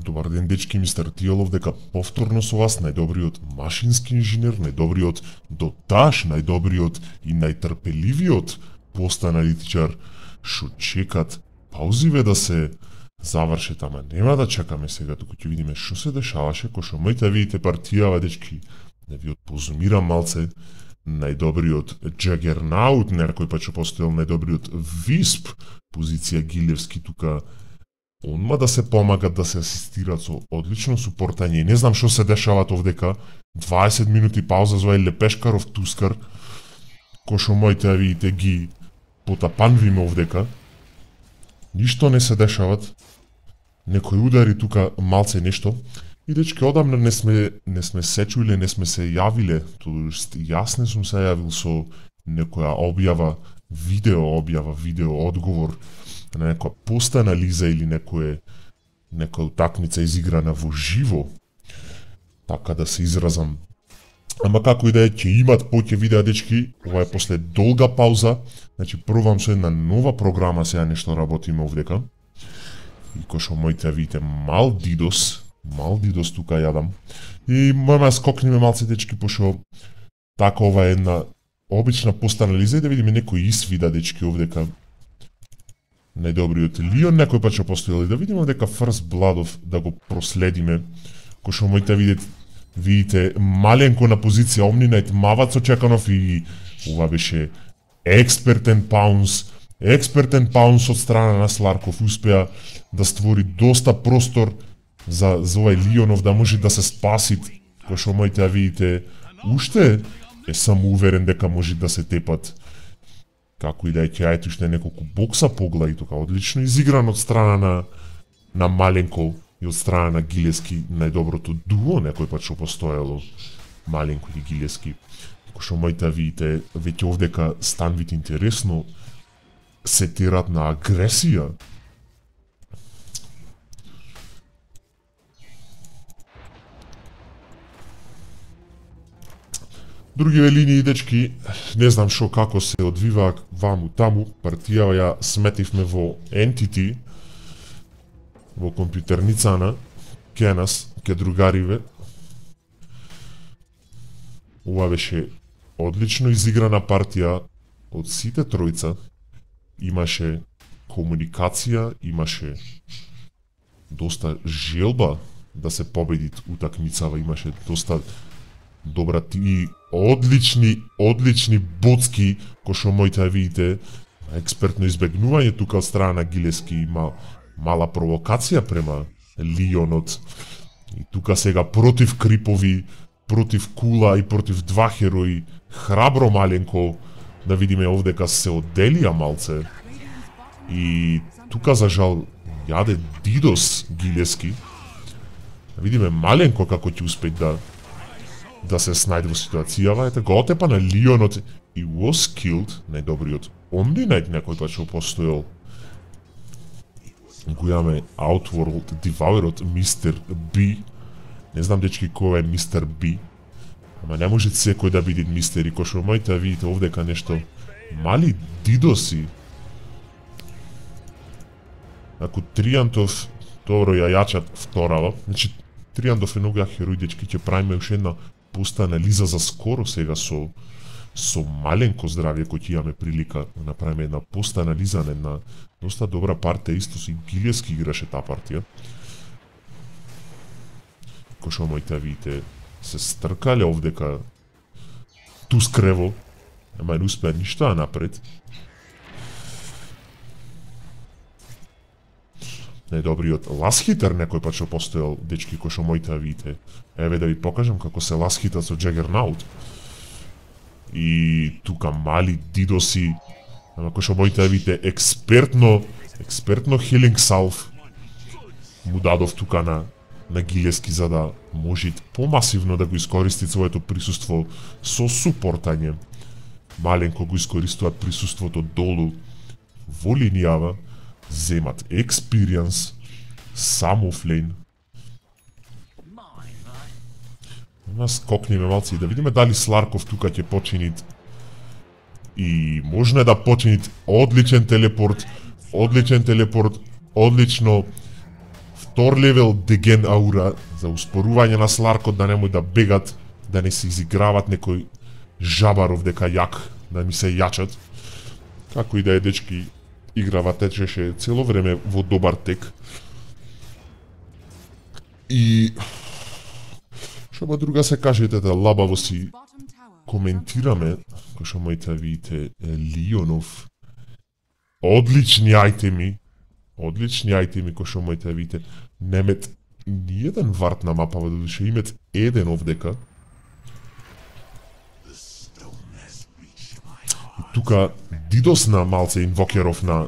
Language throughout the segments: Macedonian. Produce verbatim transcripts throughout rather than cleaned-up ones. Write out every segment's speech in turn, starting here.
Добар ден, дечки, мистер Тиелов, дека повторно со вас најдобриот машински инженер, најдобриот доташ, најдобриот и најтрпеливиот постаналитичар, шо чекат паузиве да се завршет, ама нема да чекаме сега, туку ќе видиме шо се дешаваше, кој шо моите видите партијава, дечки, да ви отпозумирам малце, најдобриот Джагернаут, некој па што постоел најдобриот Висп, позиција Гилевски тука, онма да се помагат, да се асистират со одлично супортање. Не знам што се дешават овдека, дваесет минути пауза за овај Лепешкаров Тускар, кој шо моите видите ги потапанвиме овдека. Ништо не се дешават, некој удари тука малце нешто. И дечки, одамна не сме, не сме се чуиле, не сме се јавиле, тоест јас не сум се јавил со некоја објава, видео објава, видео одговор на некоја пост анализа или некоја некоја утакмица изиграна во живо, така да се изразам. Ама како и да е, ќе имат поќе видеа, дечки, ова е после долга пауза, значи пробам со една нова програма сега нешто работиме овдека. И кој шо моите видите мал дидос, мал дидос тука јадам. И можеме да скокнеме малце, дечки, пошо така ова е една обична постанализа и да видиме некој исвида, дечки, овдека. Најдобриот Лион, некој па што постоел и да видиме дека First Bloodов да го проследиме, кој шо моите видите, видите маленко на позиција Omni-Knight, Мавац Очеканов и ова беше експертен паунс, експертен паунс од страна на Сларков, успеа да створи доста простор за, за овај Лионов да може да се спаси, кој шо моите видите, уште е само уверен дека може да се тепат. Како и да е, ќе ајте уште неколку бокса погла и тука одлично изигран од страна на на Маленко и од страна на Гилески, најдоброто дуо некој пат што постоело, Маленко и Гилески. Кој што моите видите, веќе овдека станвите интересно се терат на агресија. Другиве линии, дечки, не знам шо како се одвива ваму таму, партијава ја сметивме во Entity, во компјутерницана, ке нас, ке другариве. Ова беше одлично изиграна партија од сите тројца, имаше комуникација, имаше доста желба да се победи утакмицава, имаше доста добра и одлични, одлични боцки, кој шо моите видите, експертно избегнување тука од страна на Гилески, има мала провокација према Лионот. И тука сега против Крипови, против Кула и против два херои, храбро Маленко, да видиме овдека се одделија малце. И тука за жал јаде Дидос Гилески. Да видиме Маленко како ќе успее да да се снајде во ситуацијава, ете го отепа на Лионот и was killed, најдобриот Omni-Knight некој пат што постоел. Го имаме Outworld Devourот мистер Би. Не знам, дечки, кој е мистер Би, ама не може секој да биде мистер, и кој што моите видите овдека нешто мали дидоси. Ако Триантов добро ја јачат вторава, значи Триантов е многу ја херој, дечки, ќе правиме уште една поста анализа за скоро сега со со Маленко здравје, кој ќе имаме прилика да направиме една поста анализа на една доста добра партија, исто со Гилески играше таа партија. Кој шо моите видите се стркале овдека Тускрево, ама не успеа ништо да напред. Најдобриот ласхитер некој пат што постоел, дечки, кој шо моите видите. Еве да ви покажам како се ласхита со Джагернаут. И тука мали дидоси, ама кој шо моите видите експертно, експертно хилинг салв му дадов тука на на Гилески за да може помасивно да го искористи своето присуство со супортање. Маленко го искористува присуството долу во линијава, земат experience, само флейн. Нас скокнеме малци и да видиме дали Сларков тука ќе почини и можно да почини одличен телепорт, одличен телепорт, одлично втор левел деген аура за успорување на Сларкот, да немој да бегат, да не се изиграват некој жабаров дека јак, да ми се јачат. Како и да е, дечки, играва течеше цело време во добар тек. И што ба друга се кажете, да лабаво си коментираме, кој што моите видите Лионов. Одлични ајтеми, одлични ајтеми кој што моите видите. Немет ниеден варт на мапава, додуше имет еден овдека. И тука Дидос на малце инвокеров на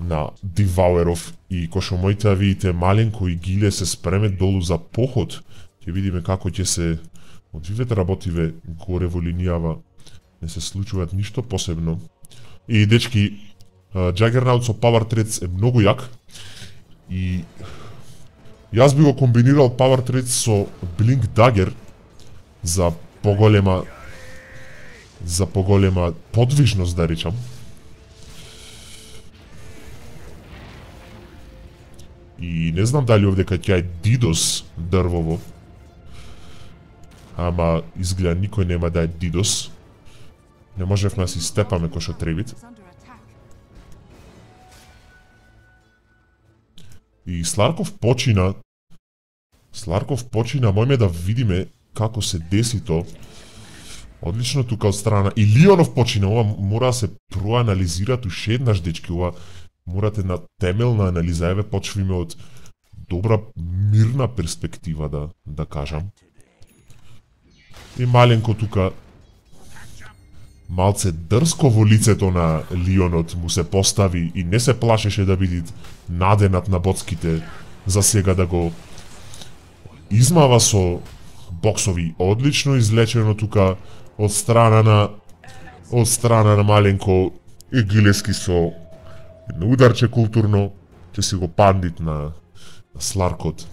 на Дивауеров и кој што моите видите Маленко и Гиле се спремет долу за поход. Ќе видиме како ќе се одвивете работиве горе во линијава. Не се случуваат ништо посебно. И дечки, Juggernaut со Power Threads е многу јак. И јас би го комбинирал Power Threads со Blink Dagger за поголема за поголема подвижност, да речам. И не знам дали овдека ќе е Дидос дрвово. Ама изгледа никој нема да е Дидос. Не можевме да си степаме кој што требит. И Сларков почина Сларков почина, мојме да видиме како се деси то. Одлично тука од страна. И Лионов почина, ова мора да се проанализираат уште еднаш, дечки, ова морате на темелна анализа, еве почвиме од добра мирна перспектива, да да кажам. И Маленко тука малце дрско во лицето на Лионот му се постави и не се плашеше да биде наденат на боцките за сега да го измава со боксови. Одлично излечено тука од страна на од страна на Маленко и Гилески со едно ударче културно, ќе си го пандит на, на Сларкот.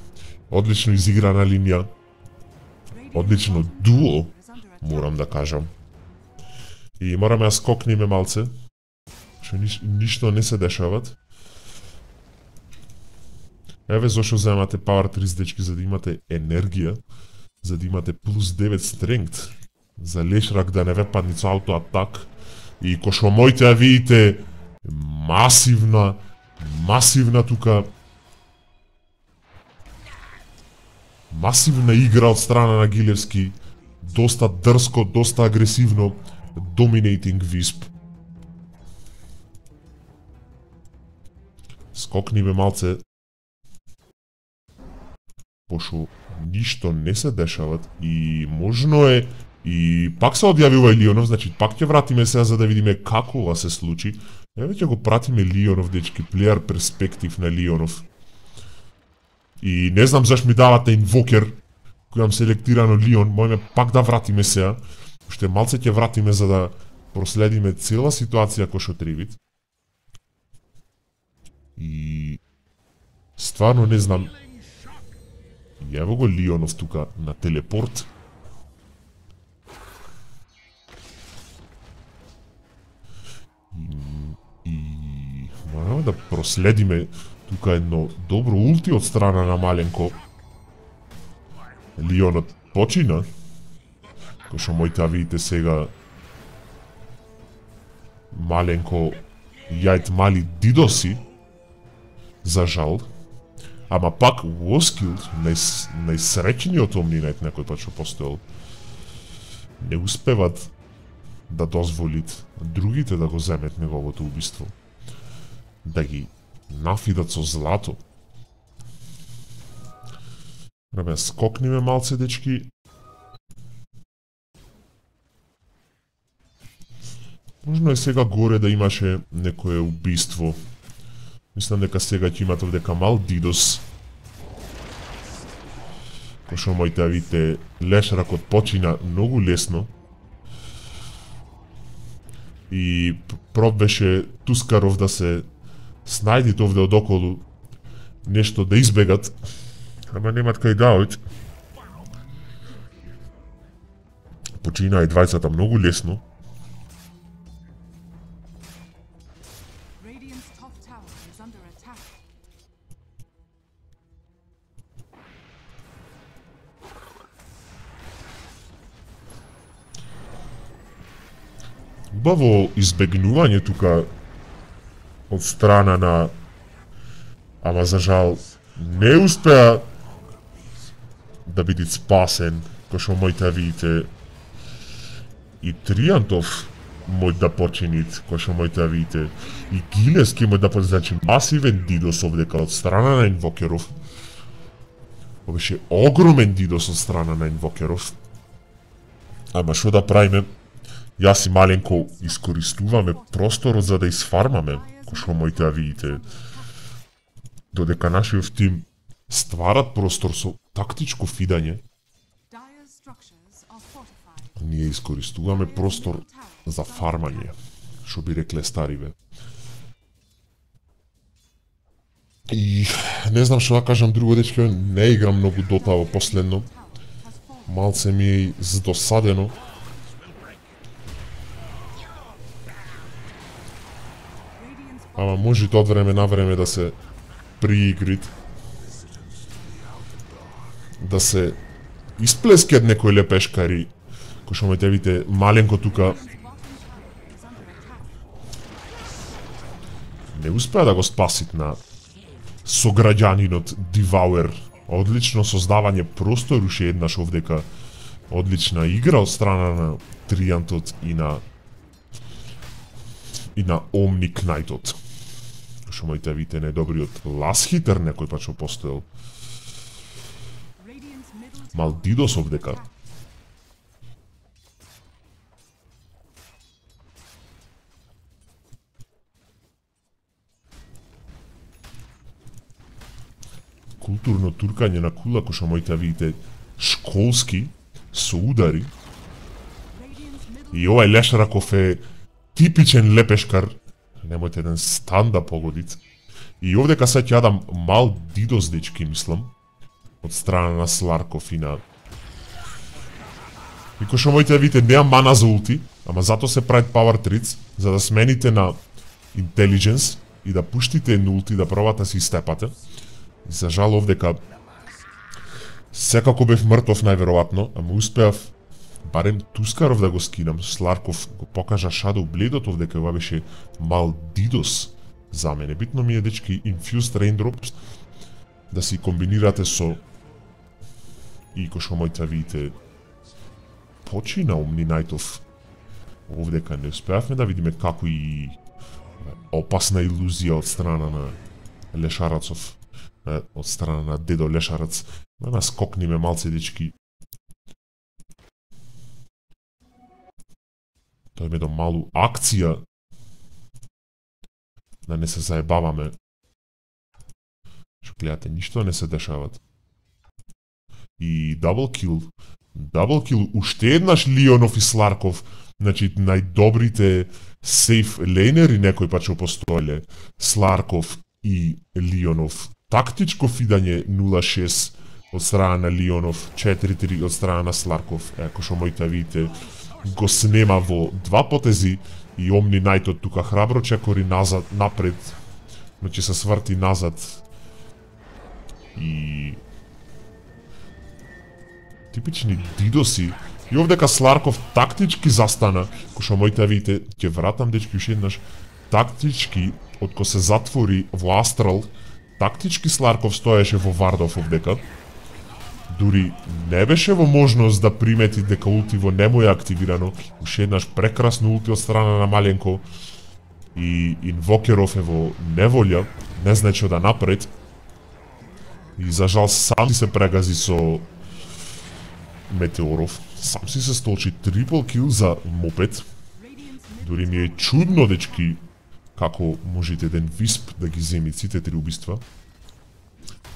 Одлично изиграна линија. Одлично дуо, морам да кажам. И мораме да скокнеме малце, што ниш, ништо не се дешават. Еве зашо земате Power Threads, дечки, за да имате енергија, за да имате плюс девет strength, за лешрак да не ве падни со ауто-атак. И кој што моите да видите, масивна, масивна тука, масивна игра од страна на Гилевски, доста дрско, доста агресивно, dominating Wisp. Скокниве малце, пошто ништо не се дешават и можно е, и пак се одјавива и Лионов, значи пак ќе вратиме сега за да видиме како ова се случи. Еве ќе го пратиме Лионов, дечки, плеер перспектив на Лионов. И не знам зашто ми давате инвокер, кој имам селектирано Лион, мојме пак да вратиме сега. Уште малце ќе вратиме за да проследиме цела ситуација кој што требит. И стварно не знам. Ево го Лионов тука на телепорт. И, и мораме да проследиме тука едно добро улти од страна на Маленко. Лионот почина. Кој што моите да видите сега Маленко јајт мали дидоси, за жал. Ама пак Воскилд, најс, најсреќниот омнинет некој пат што постоел, не успеват да дозволит другите да го земет неговото убиство. Да ги нафидат со злато. Рабе, скокниме малце, дечки. Можно е сега горе да имаше некое убиство. Мислам дека сега ќе имате овдека мал Дидос. Кој што моите да видите, лешракот почина многу лесно. И проб беше Тускаров да се снајдит овде одоколу, нешто да избегат. Ама немат кај да ојд. Почина и двајцата многу лесно. убаво избегнување тука од страна на, ама за жал не успеа да биде спасен, кој што мојте видите и Триантов мој да починит, кој што мојте видите и Гилески мој да починит, значи масивен дидос овдека од страна на Инвокеров. Ова беше огромен дидос од страна на Инвокеров. Ама што да правиме? Јас и маленко искористуваме просторот за да изфармаме, кој што мојте видите. Додека нашиот тим стварат простор со тактичко фидање, ние искористуваме простор за фармање, што би рекле стариве. И не знам што да кажам друго, дечки, не играм многу Дота во последно. Малце ми е здосадено. Ама може од време на време да се приигрит, да се исплескат некои лепешкари, кој што можете видите маленко тука не успеа да го спасит на сограѓанинот Дивауер. Одлично создавање простор уште еднаш овдека. Одлична игра од страна на Триантот и на и на Омни Кнајтот. Што можете видите најдобриот ласхитер некој пат што постоел. Малдидос овдека. Културно туркање на кула, кој што можете видите школски, со удари. И овај Лешараков е типичен лепешкар, немојте еден стан да погодит. И овдека се ќе јадам мал дидос, дечки, мислам, од страна на Сларков и на... И кој што можете видите, неам мана за улти, ама зато се правит Power Tricks, за да смените на Intelligence и да пуштите едно улти, да пробате да се истепате. И за жал овдека секако бев мртов најверојатно, ама успеав барем Тускаров да го скинам. Сларков го покажа Shadow Blade-от овдека, ова беше мал дидос за мене. Битно ми е, дечки, Infused Raindrops да си комбинирате со и кој што можете видите почина Омни Најтов. Овдека не успеавме да видиме како и опасна илузија од страна на Лешарацов, од страна на дедо Лешарац. Да нас скокниме малце, дечки. Тоа е до малу акција. Да не се заебаваме. Што гледате, ништо не се дешават. И дабл кил. Дабл кил, уште еднаш Лионов и Сларков. Значи, најдобрите сейф лейнери некој пат што постоеле. Сларков и Лионов. Тактичко фидање нула шест од страна на Лионов, четири три од страна на Сларков. Еко што можете видите, го снема во два потези и Омни Најтот тука храбро чекори назад, напред, значи се сврти назад и типични дидоси. И овдека Сларков тактички застана, кој што можете видите, ќе вратам, дечки, уште еднаш, тактички, од кој се затвори во Астрал, тактички Сларков стоеше во Вардов овдека. Дури не беше во можност да примети дека ултиво не му е активирано. Уште еднаш прекрасно улти од страна на маленко. И Инвокеров е во неволја, не знае што да напред. И за жал сам се прегази со Метеоров. Сам си се столчи трипл кил за мопед. Дури ми е чудно, дечки, како можете еден висп да ги земи сите три убиства.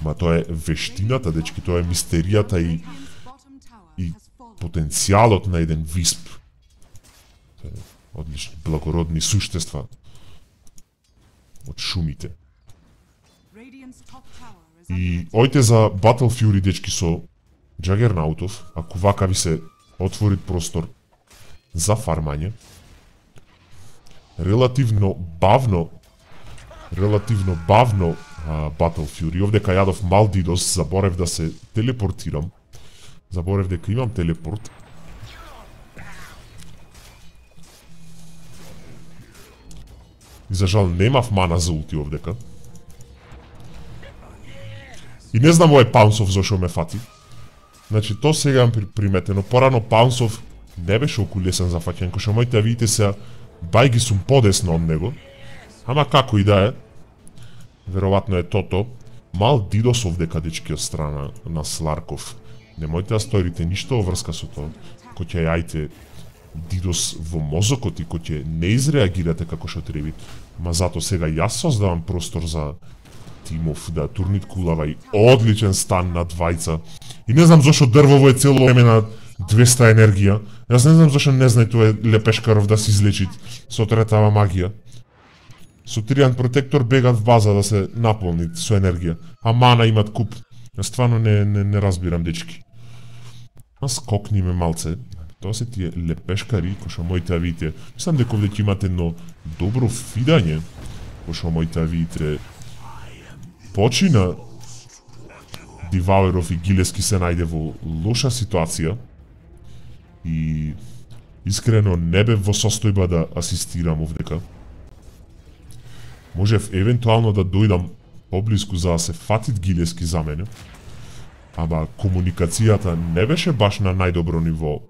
Ма тоа е вештината, дечки, тоа е мистеријата и, и потенцијалот на еден висп. Одлични, благородни суштества од шумите. И ојте за Battle Fury, дечки, со Джагернаутов, ако вака ви се отвори простор за фармање. Релативно бавно, релативно бавно а, Battle Fury. Овдека јадов мал дидос, заборев да се телепортирам. Заборев дека имам телепорт. И за жал немав мана за улти овдека. И не знам овој Паунсов зашо ме фати. Значи, то сега имам приметено. Порано Паунсов не беше оку лесен за фаќање, кој што моите да видите се, бај ги сум подесно од него. Ама како и да е, веројатно е тото. Мал дидос овдека, дечки, од страна на Сларков. Немојте да сторите ништо во врска со тоа. Кој ќе јајте дидос во мозокот и кој ќе не изреагирате како што треба. Ма зато сега јас создавам простор за Тимов да турнит кулава и одличен стан на двајца. И не знам зашо дрвово е цело време на двеста енергија. Јас не знам зашо не знае тоа Лепешкаров да се излечит со третава магија. Со Тријан протектор бегат в база да се наполнит со енергија. А мана имат куп. Јас стварно не, не, не разбирам, дечки. А скокни ме малце. Тоа се тие лепешкари, кои што моите видите. Мислам дека овде ќе имате едно добро фидање, кои што моите видите. Почина Дивауеров и Гилески се најде во лоша ситуација и искрено не бев во состојба да асистирам овдека. Можев евентуално да дојдам поблиску за да се фатит Гилески за мене, ама комуникацијата не беше баш на најдобро ниво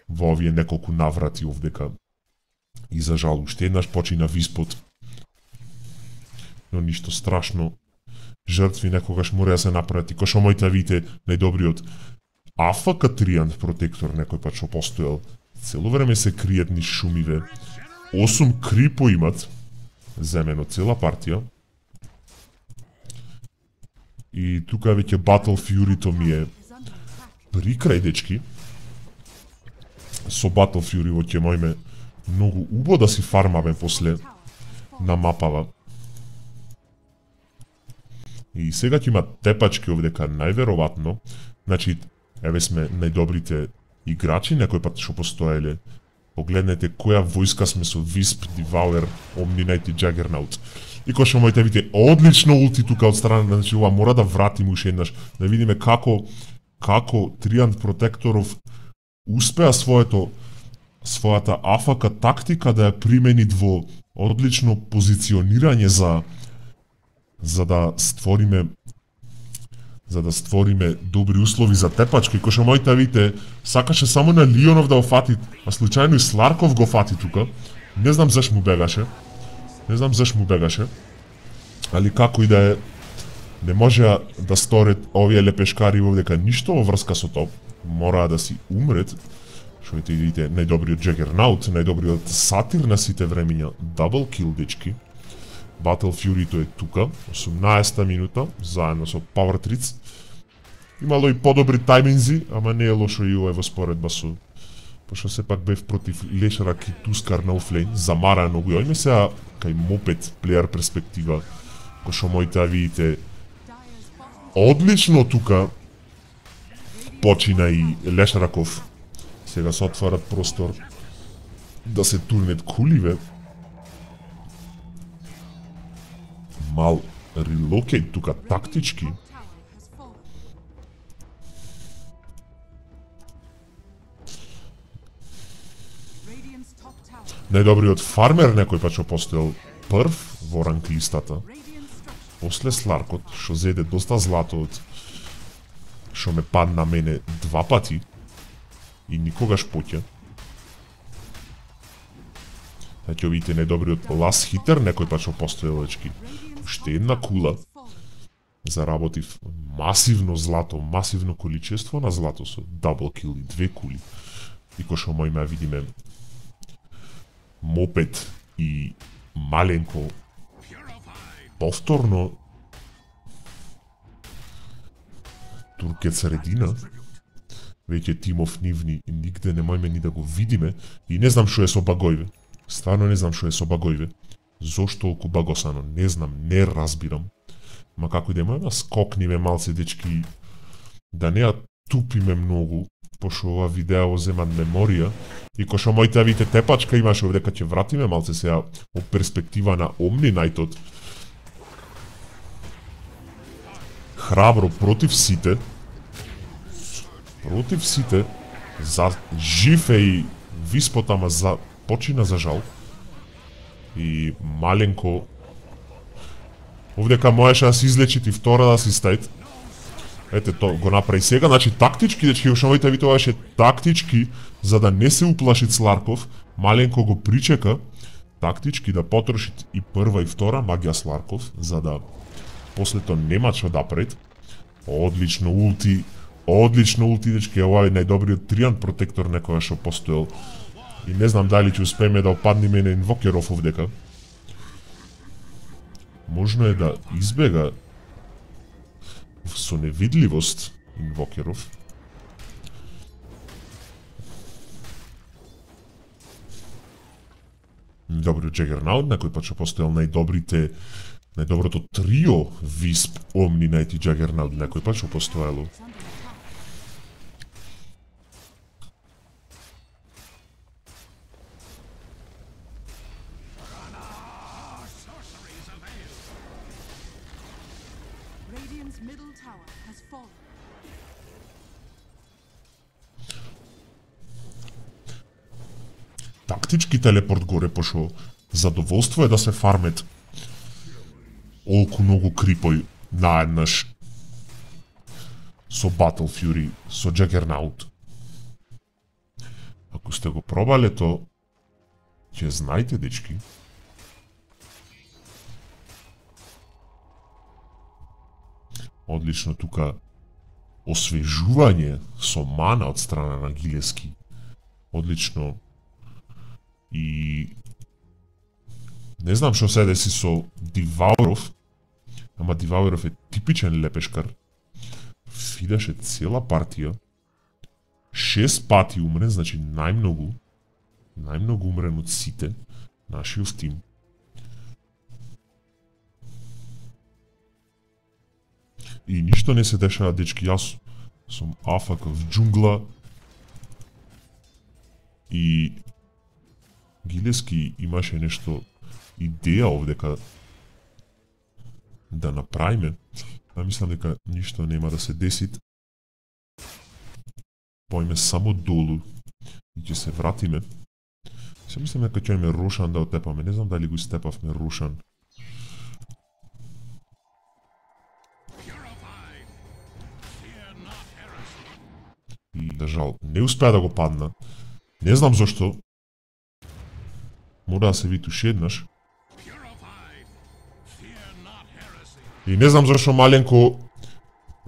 во овие неколку наврати овдека. И за жал, уште еднаш почина Виспот. Но ништо страшно. Жртви некогаш мора да се направат и кој што моите видите најдобриот А Ф К Тријан протектор некој пат што постоел. Цело време се криет низ шумиве. осум крипо имат. Земено цела партија. И тука веќе Battle Fury-то ми е при крај, дечки. Со Battle Fury во ќе мојме многу убо да си фармаме после на мапава. И сега ќе има тепачки овдека најверојатно. Значи, еве сме најдобрите играчи, некој пат што постоеле. Погледнете која војска сме со Висп, Дивауер, Omni-Knight и Juggernaut. И кој што моите видите одлично улти тука од страна, значи ова мора да вратиме уште еднаш, да видиме како како Тријан Протекторов успеа своето својата А Ф К тактика да ја примени во одлично позиционирање за за да створиме за да створиме добри услови за тепачки, кој што моите видите сакаше само на Лионов да го фати, а случајно и Сларков го фати тука. Не знам заш му бегаше. Не знам заш му бегаше. Али како и да е, не може да сторат овие лепешкари овдека ништо во врска со тоа. Мора да си умрет. Што видите, најдобриот Juggernaut, најдобриот сатир на сите времиња, дабл кил, дечки. Battle Fury-то е тука, осумнаесета минута, заедно со Power Triц. Имало и подобри тајминзи, ама не е лошо и овој во споредба со... Пошто сепак бев против Лешарак и Тускар на офлейн, замара многу. Ојме сега кај мопет, плеер перспектива, кој што моите видите одлично тука почина и Лешараков. Сега се отварат простор да се турнет куливе. Мал релокейт тука тактички. Најдобриот фармер некој пат што постоел прв во ранг листата. После Сларкот, што зеде доста злато од што ме падна мене два пати и никогаш поќе. Значи, видите најдобриот лас хитер некој пат што постоел, дечки. Уште една кула. Заработив масивно злато, масивно количество на злато со дабл кил и две кули. И кој што мојме видиме мопет и маленко повторно туркет средина. Веќе Тимов нивни и нигде не мојме ни да го видиме и не знам што е со Багојве. Стварно не знам што е со Багојве. Зошто толку багосано, не знам, не разбирам. Ма како и да има, скокниве малце, дечки, да не ја тупиме многу, пошто ова видео зема меморија, и кој што моите видите тепачка имаше овдека ќе вратиме малце сега од перспектива на Omni-Knightот. Храбро против сите, против сите, за жив е и Виспот, ама за почина за жал. И маленко овдека можеше да се излечи и втора да си стајт. Ете, то го направи сега, значи тактички, дечки, уште моите ви тоа беше тактички, за да не се уплаши Сларков, маленко го причека, тактички да потроши и прва и втора магија Сларков, за да после тоа нема што да пред. Одлично улти, одлично улти, дечки, ова е најдобриот тријан протектор некоја што постоел. И не знам дали ќе успееме да опадниме на Инвокеров овдека. Можно е да избега со невидливост Инвокеров. Добриот Джагернаут, на кој пат што постоел најдобрите, најдоброто трио Висп, Омни, Найт и Джагернаут, на кој пат што постоело. Тактички телепорт горе, пошо задоволство е да се фармет олку многу крипој наеднаш со Battle Fury, со Juggernaut. Ако сте го пробале то, ќе знаете, дечки. Одлично тука освежување со мана од страна на Гилески. Одлично. И не знам што се деси со Дивауров, ама Дивауров е типичен лепешкар. Фидаше цела партија. Шест пати умрен, значи најмногу, најмногу умрен од сите нашиот тим. И ништо не се дешава, дечки, јас сум АФК в џунгла и Гилески имаше нешто идеја овдека да направиме, а мислам дека ништо нема да се деси. Појме само долу и ќе се вратиме. Се мислам дека ќе имаме Рошан да отепаме, не знам дали го истепавме Рошан. И, да жал, не успеа да го падна. Не знам зашто. Мора да се витуши еднаш. И не знам зашто маленко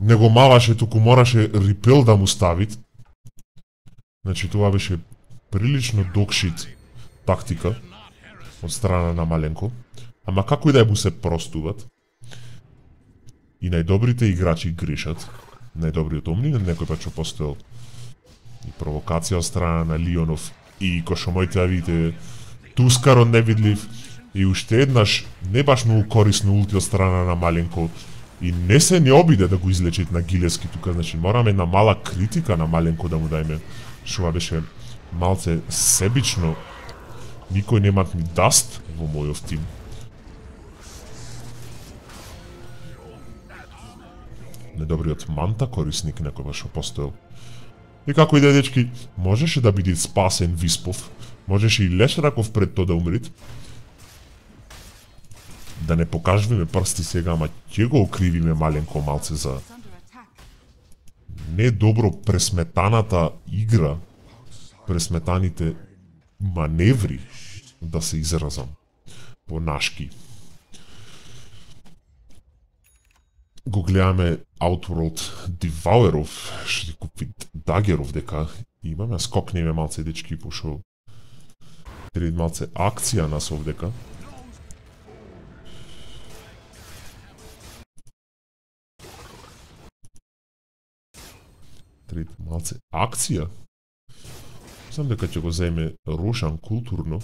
не го маваше, туку мораше рипел да му ставит. Значи тоа беше прилично докшит тактика од страна на маленко. Ама како и да му се простуват. И најдобрите играчи грешат. Најдобриот Омни, некој пат што постоел и провокација од страна на Лионов и кој што моите да видите Тускаро невидлив и уште еднаш не баш многу корисно улти од страна на маленко и не се не обиде да го излечит на Гилески тука, значи мораме една мала критика на маленко да му дајме, што беше малце себично. Никој немат ни даст во мојов тим. Недобриот Манта корисник некој баш постоел. И како и да, дечки, можеше да биде спасен Виспов, можеше и Лешраков пред тоа да умрит. Да не покажуваме прсти сега, ама ќе го окривиме маленко малце за не добро пресметаната игра, пресметаните маневри, да се изразам по нашки. Го гледаме Outworld Devourов, што ти купи Дагеров дека имаме, скокнеме малце, дечки, пошо трид малце акција нас овдека. Трид малце акција. Знам дека ќе го земе Рошан културно.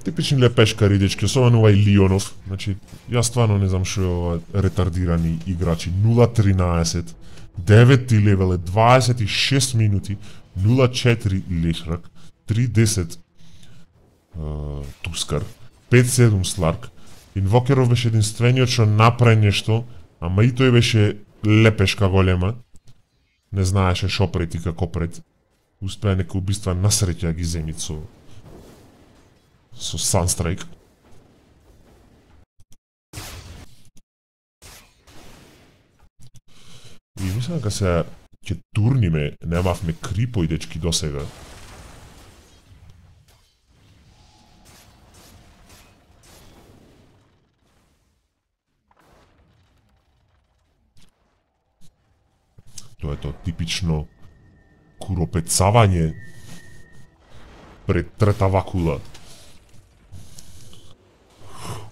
Типични лепешкари, дечки, особено овај Лионов. Значи, јас стварно не знам што е ова ретардирани играчи. нула тринаесет, деветти левел е дваесет и шест минути, нула четири Лешрак, три десет uh, Тускар, пет седум Сларк. Инвокеров беше единствениот што направи нешто Ама и тој беше лепешка голема. Не знаеше шо пред и како пред. Успеа нека убиства насреќа ги земит со со Sunstrike. И мислам дека се ќе турниме, немавме крипој дечки досега. Тоа е тоа типично куропецавање пред трета вакула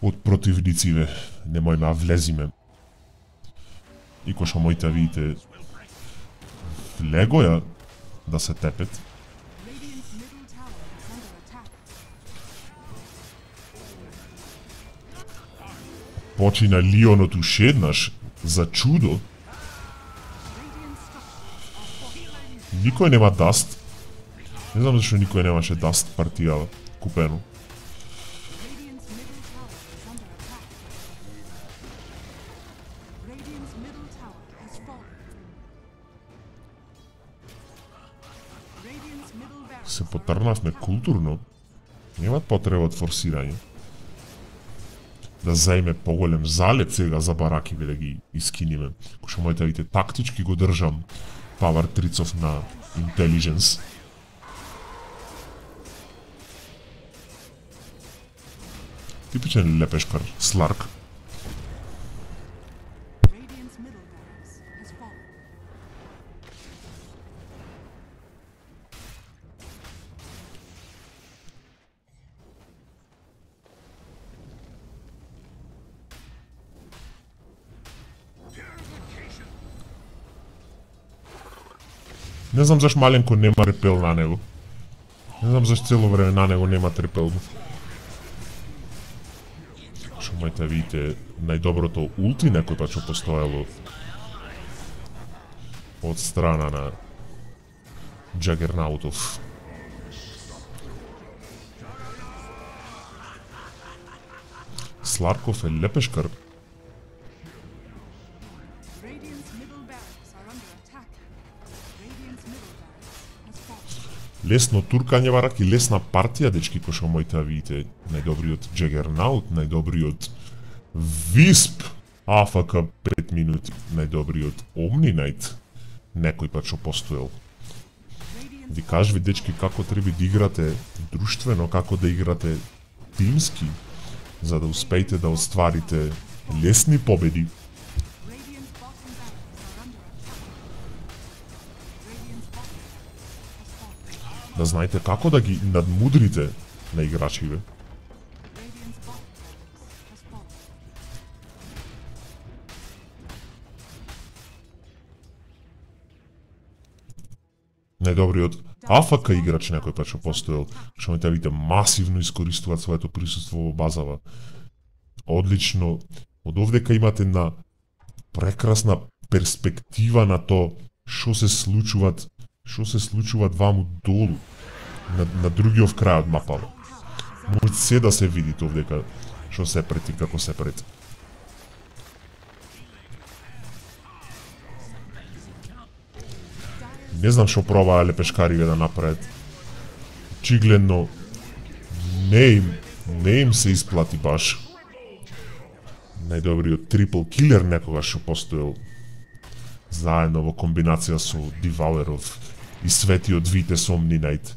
од противнициве. Немојме да влезиме. И кој што моите видите влегоја да се тепет. Почина Лионот уште еднаш за чудо. Никој нема даст. Не знам зашто никој немаше даст партија купено. Се потрнавме културно. Немат потреба од форсирање. Да заеме поголем залет сега за баракиве да ги искиниме. Кој што моите видите тактички го држам Power трицов на Intelligence. Типичен лепешкар, Сларк. Не знам заш маленко нема репел на него. Не знам заш цело време на него нема репел. Шо моите видите најдоброто улти некој пат што постоело од страна на Джагернаутов. Сларков е лепешкар. Лесно туркање барак и лесна партија, дечки, кој што моите видите. Најдобриот Джагернаут, најдобриот Висп, А Ф К пет минути, најдобриот Омни Найт, некој пат што постоел. Ви кажви, дечки, како треба да играте друштвено, како да играте тимски, за да успеете да остварите лесни победи. Да знаете како да ги надмудрите на играчиве. Најдобриот А Ф К играч некој пат што постоел, што можете да видите масивно искористуваат своето присуство во базава. Одлично. Од овдека имате на прекрасна перспектива на то што се случуваат што се случуваат ваму долу, на, на другиот крај од мапава. Може се да се видите овдека што се пред и како се пред. Не знам што пробаа лепешкариве да направат. Очигледно не им, не им се исплати баш. Најдобриот трипл килер некогаш што постоел заедно во комбинација со Дивалеров и светиот Витес Омни Найт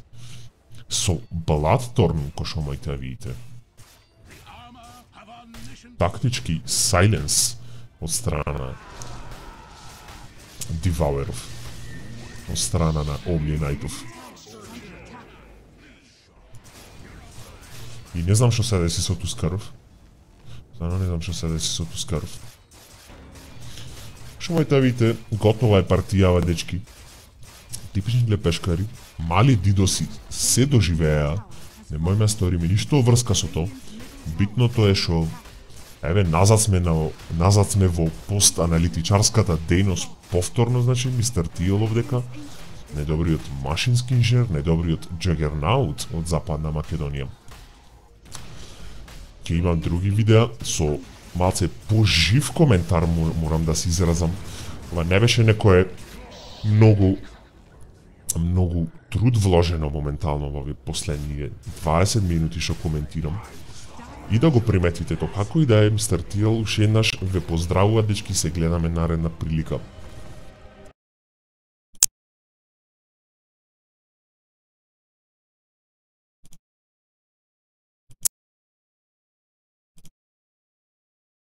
со Бладторн, кој што моите да видите. Тактички Сайленс од страна Дивалеров, од страна на Омни Найтов. И не знам што се деси со Тускаров. Стварно не знам што се деси со Тускаров. Што моите да видите, готова е партијава, дечки. Типични лепешкари, мали дидоси се доживеа, немојме сториме ништо врска со тоа. Битното е што еве назад сме на назад сме во пост-аналитичарската дејност повторно, значи ми стартијало овдека најдобриот машински инженер, најдобриот Джагернаут од Западна Македонија. Ќе имам други видеа со малце пожив коментар морам да се изразам. Ова не беше некое многу многу труд вложено моментално во овие последни дваесет минути што коментирам. И да го приметите тоа, како и да е, мистер Тиел уште еднаш ве поздравува, дечки, се гледаме наредна прилика.